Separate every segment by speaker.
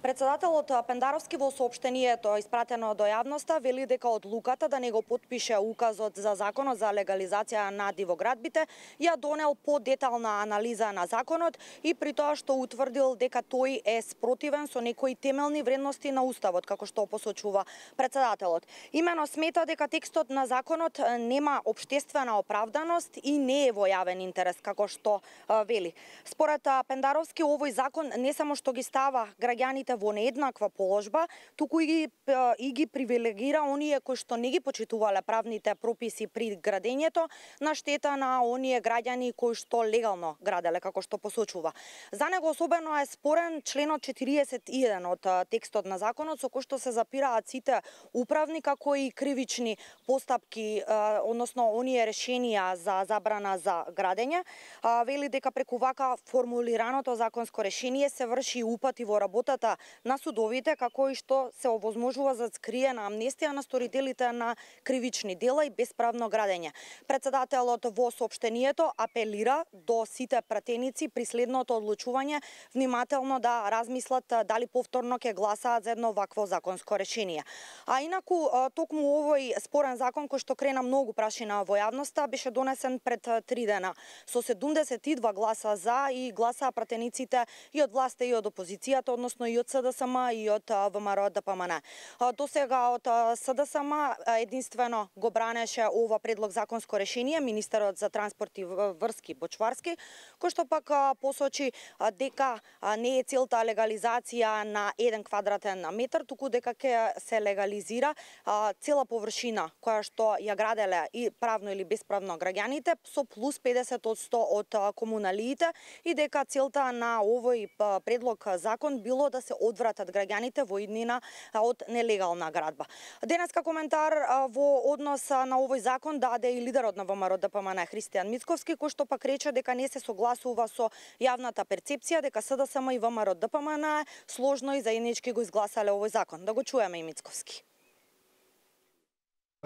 Speaker 1: Председателот Пендаровски во соопштението испратено до јавноста вели дека одлуката да не го потпише указот за законот за легализација на дивоградбите ја донел подетална анализа на законот и при тоа што утврдил дека тој е спротивен со некои темелни вредности на уставот, како што посочува председателот. Имено смета дека текстот на законот нема општествена оправданост и не е во јавен интерес, како што вели. Според Пендаровски овој закон не само што ги става граѓаните во нееднаква положба, туку и ги привилегира оние кои што не ги почитувале правните прописи при градењето на штета на оние граѓани кои што легално граделе, како што посочува. За него особено е спорен членот 41 од текстот на законот, со кој што се запираат сите управни како и кривични постапки, односно оние решенија за забрана за градење. Вели дека преку вака формулираното законско решение се врши упати во работата на судовите, како и што се овозможува за скриена амнестија на сторителите на кривични дела и бесправно градење. Председателот во соопштението апелира до сите пратеници при следното одлучување внимателно да размислат дали повторно ќе гласаат за едно вакво законско решение. А инаку, токму овој спорен закон кој што крена многу прашина во јавноста беше донесен пред 3 дена со 72 гласа за и гласаа пратениците и од власта и од опозицијата, односно и од СДСМ и од ВМРО ДПМН. До сега од СДСМ единствено го бранеше ова предлог законско решение министерот за транспорт и врски Бочварски, кој што пак посочи дека не е целта легализација на 1 квадратен метар, туку дека ќе се легализира цела површина која што ја граделе и правно или бесправно граѓаните со плюс 50% од комуналиите и дека целта на овој предлог закон било да се одвратат граѓаните во иднина од нелегална градба. Денеска коментар во однос на овој закон даде и лидерот на ВМРО ДПМН Христијан Мицковски, кој што пак рече дека не се согласува со јавната перцепција дека СДСМ и ВМРО ДПМН сложно и заеднички го изгласале овој закон. Да го чуеме и Мицковски.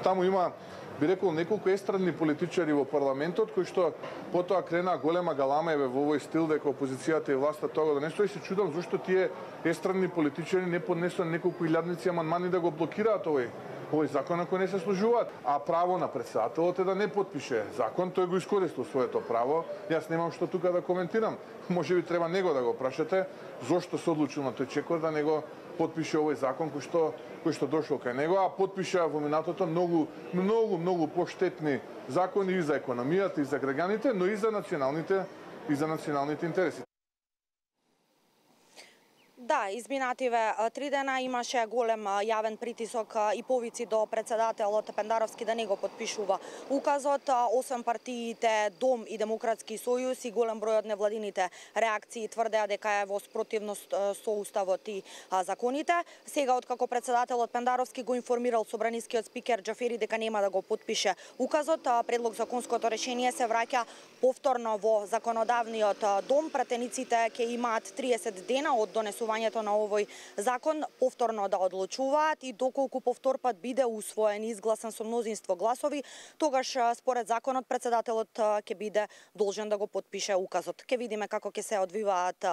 Speaker 2: Таму има, би рекол, неколку естрадни политичари во парламентот кои што потоа крена голема галама во овој стил дека опозицијата и власта тоа да не стои. Се чудам зошто тие естрадни политичари не поднесоа неколку илјадници амандмани да го блокираат овој закон ако не се служуваат. А право на председателот е да не потпише закон, тој го искористил своето право. Јас немам што тука да коментирам. Можеби треба него да го прашате зошто се одлучил на тој чекор да не го потпише овој закон кој што дошол кај него, а потпиша во минатото многу поштетни закони и за економијата и за граѓаните, но и за националните интереси.
Speaker 1: Да, изминативе 3 дена имаше голем јавен притисок и повици до председателот Пендаровски да не го потпишува указот. Освен партиите Дом и Демократски сојуз и голем број од невладините реакции тврдеа дека е во спротивност со уставот и законите. Сега откако председателот Пендаровски го информирал собранискиот спикер Џафери дека нема да го потпише указот, предлог законското решение се враќа повторно во законодавниот дом. Пратениците ќе имаат 30 дена од донесувањето на овој закон повторно да одлучуваат и доколку повторпат биде усвоен и изгласан со мнозинство гласови, тогаш според законот председателот ќе биде должен да го потпише указот. Ќе видиме како ќе се одвиваат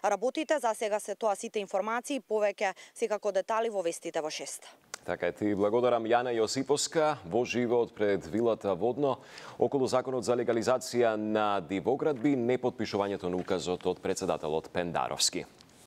Speaker 1: работите. За сега се тоа сите информации, повеќе секако детали во вестите во 6.
Speaker 3: Така е, ти благодарам Јана Јосиповска во живот пред вилата Водно околу законот за легализација на дивоградби, непотпишувањето на указот од председателот Пендаровски.